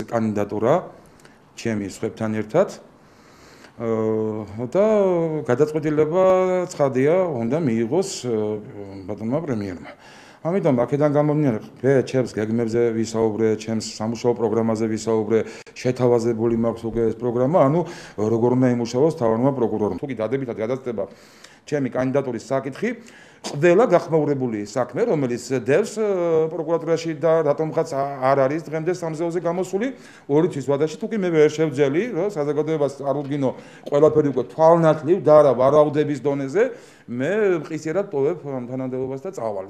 კანდიდატურა ჩემი სხვებთან ერთად და გადაწყვეტილება ცხადია უნდა მიიღოს ბატონმა პრემიერმა. ამიტომ აქედან გამომდინარე, ჩემს გეგმებზე ვისაუბრე, ჩემს სამუშაო პროგრამაზე ვისაუბრე, შეთავაზებული მაქვს უკვე ეს პროგრამა, ანუ როგორ უნდა იმუშაოს თავარმა პროკურორმა. თუ კი დადებითად გადაწყვეტება ჩემი კანდიდატურის საკითხი, ყველა გახმაურებული საქმე, რომელიც დევს პროკურატურაში და რატომღაც არ არის დღემდე სამზეოზე გამოსული, 2 თვის ვადაში თუ კი მე ვერ შევძელი, რომ საზოგადოებას წარუდგინო ყველაფერი უკვე თვალნათლივ და არა ვარაუდების დონეზე, მე მყისიერად ტოვებ ამ თანამდებობას და წავალ.